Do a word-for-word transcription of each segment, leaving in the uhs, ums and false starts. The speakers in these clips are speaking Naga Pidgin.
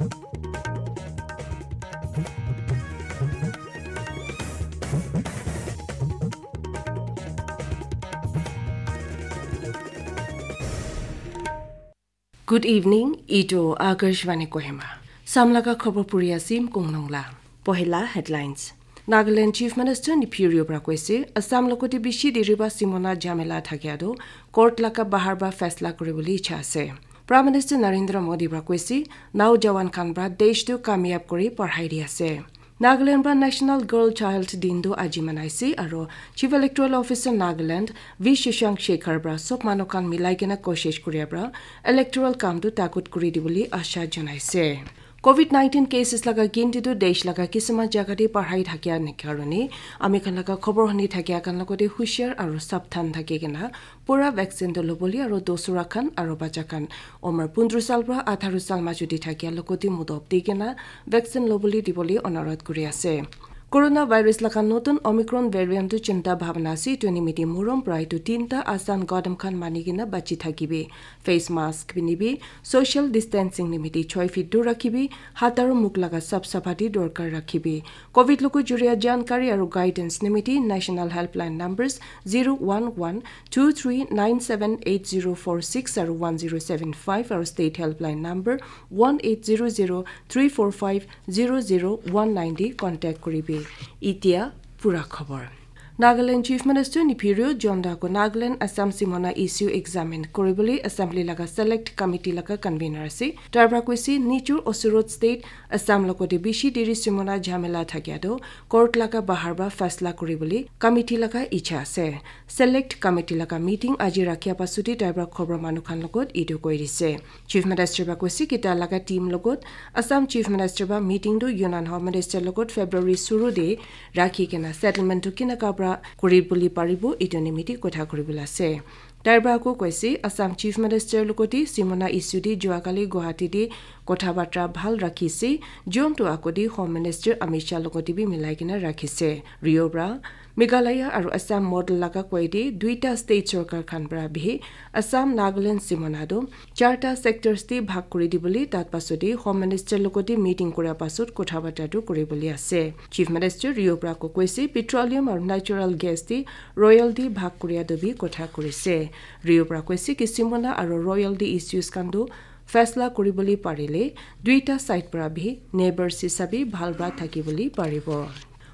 Good evening, itu Akashvani Kohima. Samlaga khobor puri asim kungnungla. Pohila headlines. Nagaland Chief Minister Neiphiu Rio pra koise, Assam logote bishi diri ba simona jhamela thakia do, court laga bahar ba faisla kuri bole icha ase. Prime Minister Narendra Modi pra koise, naujawan khan pra desh tu kamyab kuri parhai di ase. Nagaland pra National Girl Child Din tu aji manaise aro Chief Electoral Officer Nagaland V Shashank Shekhar pra sob manu khan milai kena koshish kuria pra electoral kam tu takut kuri di bole asha janaise. Covid nineteen cases laga ginti tu desh laga kisima jaga te parhai thakia ne karone ami khan laga khobor huni thakia khan logote hushar aro sabdhan thaki kena pura vaccine tu lobole aro dosura khan aro bacha khan umar pundro sal pra atharo sal majo te thakia logote mudop di kena vaccine lobole di bole onurodh kuri ase. Coronavirus laga notun Omicron variant tu chinta bhabna ase, itu nimiti morom pra itu tinta asan gadam khan mani kena bachi thakibi. Face mask pinibi, social distancing nimiti choi feet dur rakhibi, hat aro mukh laga sap sapati dorkar rakhibi. Covid logo juria jankari aro guidance nimiti National Helpline numbers zero one one two three nine seven eight zero four six aro one zero seven five aro State Helpline number one eight zero zero three four five zero zero one nine di contact kuribi. Itia pura khobor. Nagaland Chief Minister Neiphiu Rio jonda ko Nagaland Assam simona issue examine kuribole Assembly laga Select Committee laga convener ase. Tar pra koise nijor osorot state Assam logote bishi diri simona jhamela thakia do court laga bahar ba faisla kuribole committee laga icha ase. Select Committee laga meeting aji rakhia pasute tar pra khobor manu khan logot itu koi dise. Chief Minister ba koise ki ta laga team logot Assam Chief Minister ba meeting tu Union Home Minister logot February suru de rakhi kena settlement tu kinaka pra kuri bole paribo itu nimiti kotha kuribole ase. Tai ba ako koise Assam Chief Minister logote simona issue de juakali Guwahati de kotha batra bhal rakhise, jon tu ako de Home Minister Amit Shah logote bi milai kena rakhise. Rio pra Meghalaya aru Assam model laga koi de duita state sorkar khan para bihi Assam, Nagaland simona tu charta sectors te bhag kuri dibole tat pasode Home Minister logote meeting kura pasot kotha bata tu kuri bole ase. Chief Minister Rio para ko koise petroleum aru natural gas te royalty bhag kuria tu bi kotha kurise. Rio para koise ki simona aru royalty issues khan tu faisla kuri bole parile duita side para bi neighbors hisabe bhal para thaki bole paribo.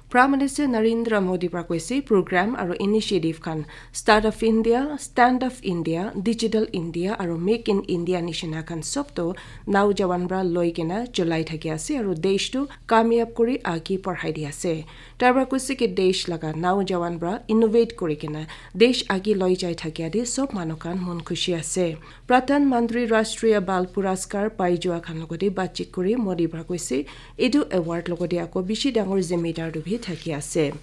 Prime Minister Narendra Modi para koise program aru initiative khan Start of India, Stand of India, Digital India aru Make in India nishina khan sob to naujawan para loi kena cholai thaki ase aru desh tu kamyab kuri age parhai di ase. Tai para koise ki desh laga naujawan para innovate kuri kena desh age loi jai thakia de sob manu khan mon khushi ase. Pradhan Mantri Rashtriya Bal Puraskar pai jua khan logote batchit kuri Modi para koise, etu award logote ako bishi dangor zimedar tu bi thaki ase.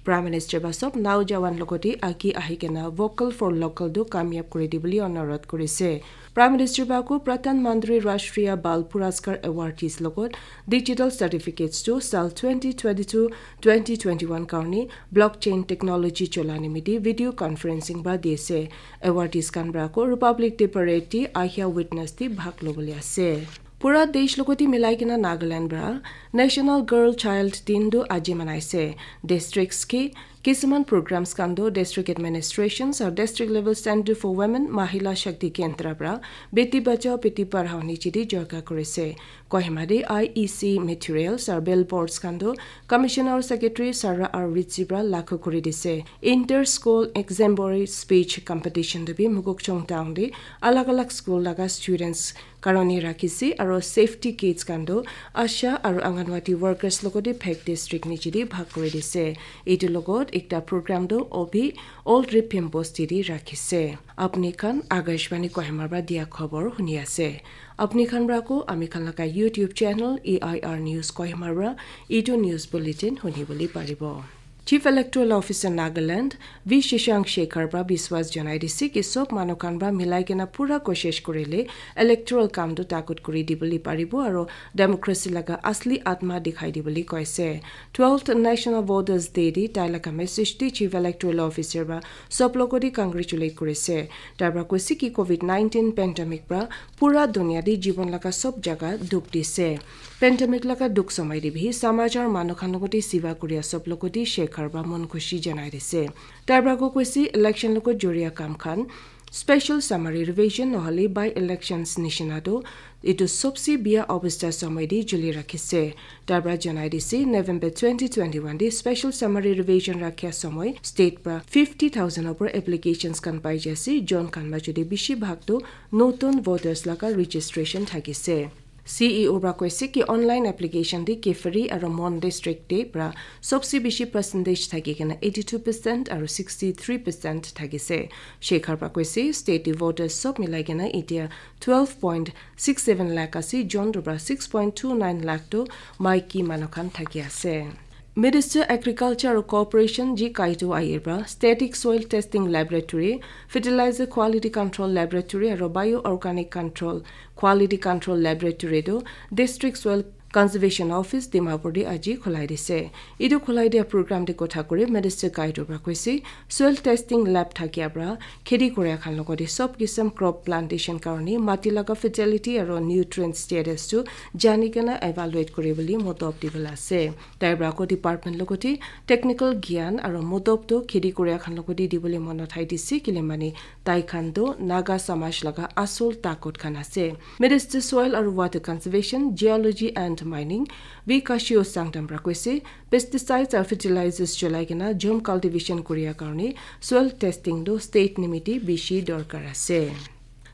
Prime Minister ba sob naujawan logote agi ahi kena vocal for local tu kamyab kuri dibole onurodh kurise. Prime Minister ba ko Pradhan Mantri Rashtriya Bal Puraskar awardees logot digital certificates tu sal twenty twenty-two twenty twenty-one karne blockchain technology chola nimite video conferencing ba di ase. Awardees khan para ko Republic Day parade te ahia witness te bhag lobole ase. Pura desh logote milai kena Nagaland para National Girl Child Din tu aji manaise. Districts ki kisuman programs khan tu district administrations aru district level Centre for Women Mahila Shakti Kendra para Beti Bachao Beti Padhao niche te jorka kurise. Kohima te I E C materials aru billboards khan tu Commissioner Secretary Sarah R Ritchie para lakhu kuri dise. Inter school exemplary speech competition tu bi Mokokchung town te alag alag school laga students karone rakhise aru safety kits khan tu asha aru anganwadi workers logote phek district niche te bhag kuri dise. Etu logot ekta program tu obi Old Ripim bosti te rakhise. Apni khan Akashvani Kohima para dia khobor huni ase. Apni khan para ko ami khan laga YouTube channel A I R News Kohima para etu news bulletin huni bole paribo. Chief Electoral Officer Nagaland V Shashank Shekhar pra biswas janai dise ki sob manu khan pra milai kena pura koshish kurile electoral kam tu takut kuri dibole paribo aro democracy laga asli atma dikhai dibole koise. Twelfth National Voters Day te tai laga message te Chief Electoral Officer pra sob logote congratulate kurise. Tai pra koise ki covid nineteen pandemic pra pura dunia te jibon laga sob jaga dukh dise. Pandemic laga dukh somoi te bi samaj aro manu khan logote siva kuria sob logote Shekhar pra mon khushi janai dise. Tai pra ko koise election logot joria kam khan special summary revision nohole by elections nishina tu etu sobse biya obostha somoi te juli rakhise. Tai pra janai dise November twenty twenty-one te special summary revision rakhia somoi state pra fifty thousand opor applications khan pai jai ase. Jon khan majo te bishi bhag tu notun voters laga registration thakise. C E O pra koise ki online application te Kiphire aro Mon district te pra sobse bishi percentage thaki kena eighty two percent aro sixty three percent thakise. Shekhar pra koise state te voters sob milai kena etia twelve point six seven lakh ase, jon tu pra six point two nine lakh tu maiki manu khan thaki ase. Minister Agriculture aro Cooperation G Kaitu Ayir pra static soil testing laboratory, fertilizer quality control laboratory aro bioorganic control quality control laboratory tu District Soil Conservation Office Dimapur te aji khulai dise. Etu khulai dia program te kotha kuri Minister Kaitu pra koise soil testing lab thakia pra kheti kuria khan logote sob kisam crop plantation karone mati laga fertility aro nutrient status tu jani kena evaluate kuribole modop dibole ase. Tai pra ko department logote technical gyan aro modop tu kheti kuria khan logote dibole mon uthai dise kile mane tai khan tu Naga samaj laga asol takut khan ase. Minister Soil aro Water Conservation, Geology and Mining V Kashio Sangtam pra koise pesticides aro fertilizers cholai kena jom cultivation kuria karone soil testing tu state nimite bishi dorkar ase.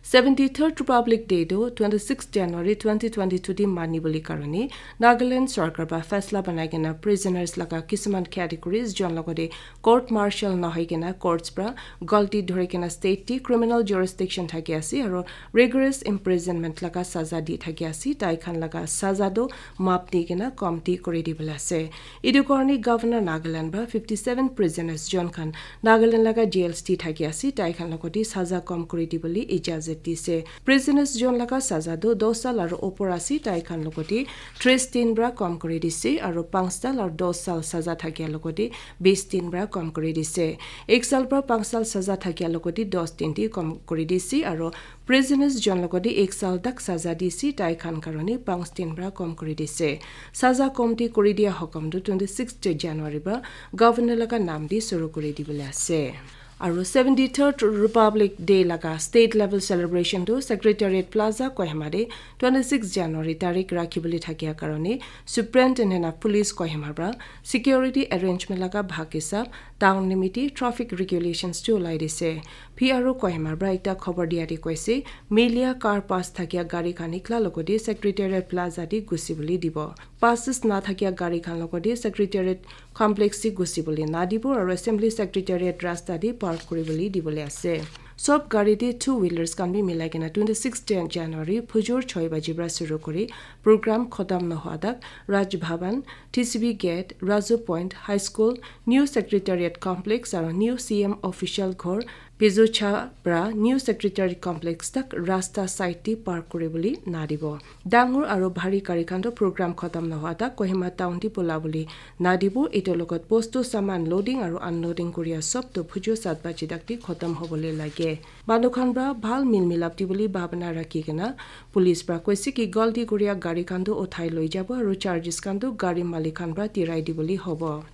Seventy third Republic Day tu twenty six January twenty twenty two te mani bole karone Nagaland sarkar pra faisla banai kena prisoners laga kisuman categories jon logote court martial nohoi kena courts pra galti dhori kena state te criminal jurisdiction thaki ase aro rigorous imprisonment laga saza di thaki ase. Tai khan laga saza tu map di kena komti kuri dibole ase. Etu karone Governor Nagaland pra fifty seven prisoners jon khan Nagaland laga jails te thaki ase tai khan logote saza kom kuri dibole ijazat dise. Prisoners jon laga saza tu dos saal aro opor ase tai khan logote tris din pra kom kuri dise aro panch saal aro dos saal saza thakia logote bis din pra kom kuri dise. Ek saal pra panch saal saza thakia logote dos din te kom kuri dise aro prisoners jon logote ek saal tak saza dise tai khan karone panch din pra kom kuri dise. Saza komti kuri dia hokom tu twenty six January pra Governor laga nam te suru kuri dibole ase. Aro seventy third Republic Day laga state level celebration tu Secretariat Plaza Kohima te twenty six January tarik rakhibole thakia karone Superintendent of Police Kohima pra security arrangement laga bhag hisab town nimite traffic regulations tu ulai dise. P R O Kohima pra ekta khobor dia te koise melia car pass thakia gari khan nikla logote Secretariat Plaza te gusibole dibo. Passes na thakia gari khan logote Secretariat complex te gusibole nadibo aro Assembly Secretariat rasta te park kuribole dibole ase. Sob gari te two wheelers khan bi milai kena twenty six Jan- January phujur choi baji pra suru kuri program khotam nohua tak Raj Bhavan, T C B Gate, Razu Point, High School, New Secretariat Complex aro New C M Official Ghor, Pizucha pra New Secretariat Complex tak rasta side te park kuribole nadibo. Dangor aro bhari gari khan toh program khatam nohwa tak Kohima town te pula bole nadibo. Etu logot bostu saman loading aro unloading kuria sob toh bhujo sat baji tak te khatam hobole lage. Manu khan pra bhal mil milap dibole bhabana rakhi kena police pra koise ki galti kuria gari khan toh uthai loi jabo aro charges khan toh gari malik khan pra tirai dibole hobo.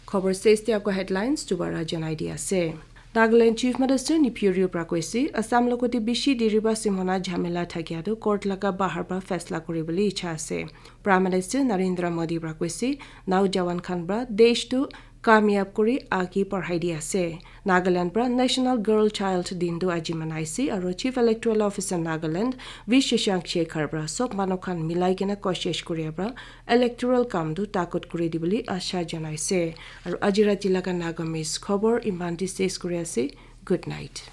Khobor ses te ako headlines dubara janai di ase. Nagaland Chief Minister Neiphiu Rio pra koise, Assam logote bishi diri ba simona jhamela thakia tu court laga bahar pra faisla kuri bole icha ase. Prime Minister Narendra Modi pra koise, naujawan khan pra desh tu kamyab kuri age parhai di ase. Nagaland pra National Girl Child Din tu aji manaise aro Chief Electoral Officer Nagaland V Shashank Shekhar pra sob manu khan milai kena koshish kuria pra electoral kam tu takut kuri dibole asha janaise. Aru aji rati laga Nagamese khobor iman te ses kuri ase. Good night.